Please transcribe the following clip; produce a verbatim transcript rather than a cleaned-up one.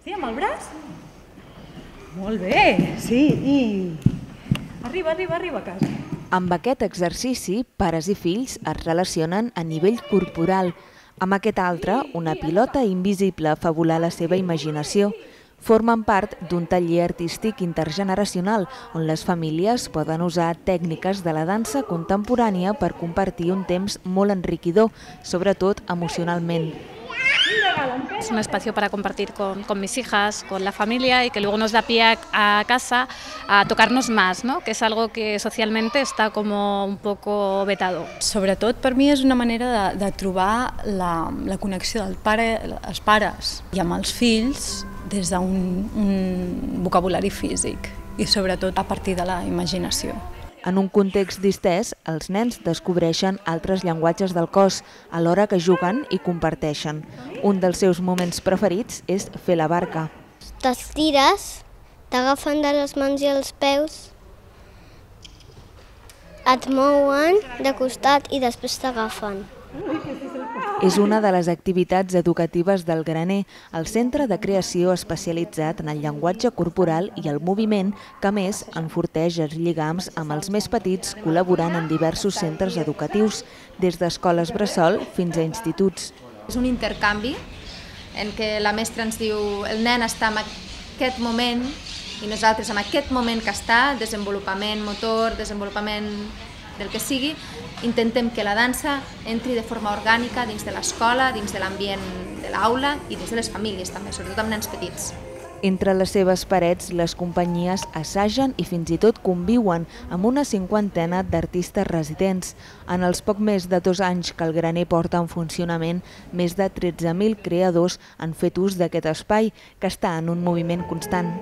Sí, amb el braç? Molt bé, sí, i... Arriba, arriba, arriba a casa. Amb aquest exercici, pares i fills es relacionen a nivell corporal. Amb aquest altre, una pilota invisible fa volar la seva imaginació. Formen part d'un taller artístic intergeneracional on les famílies poden usar tècniques de la dansa contemporània per compartir un temps molt enriquidor, sobretot emocionalment. Es un espacio para compartir con, con mis hijas, con la familia y que luego nos da pie a, a casa a tocarnos más, ¿no? Que es algo que socialmente está como un poco vetado. Sobretot per mi és una manera de, de trobar la, la connexió del pare, els pares i amb els fills des d'un un vocabulari físic i sobretot a partir de la imaginació. En un context distès, els nens descobreixen altres llenguatges del cos, alhora que juguen i comparteixen. Un dels seus moments preferits és fer la barca. T'estires, t'agafen de les mans i els peus, et mouen de costat i després t'agafen. És una de les activitats educatives del Graner, el centre de creació especialitzat en el llenguatge corporal i el moviment que, a més, enforteix els lligams amb els més petits col·laborant en diversos centres educatius, des d'escoles bressol fins a instituts. És un intercanvi en què la mestra ens diu el nen està en aquest moment i nosaltres en aquest moment que està, desenvolupament motor, desenvolupament del que sigui, intentem que la dansa entri de forma orgànica dins de l'escola, dins de l'ambient de l'aula i dins de les famílies també, sobretot amb nens petits. Entre les seves parets, les companyies assagen i fins i tot conviuen amb una cinquantena d'artistes residents. En els poc més de dos anys que el Graner porta en funcionament, més de tretze mil creadors han fet ús d'aquest espai, que està en un moviment constant.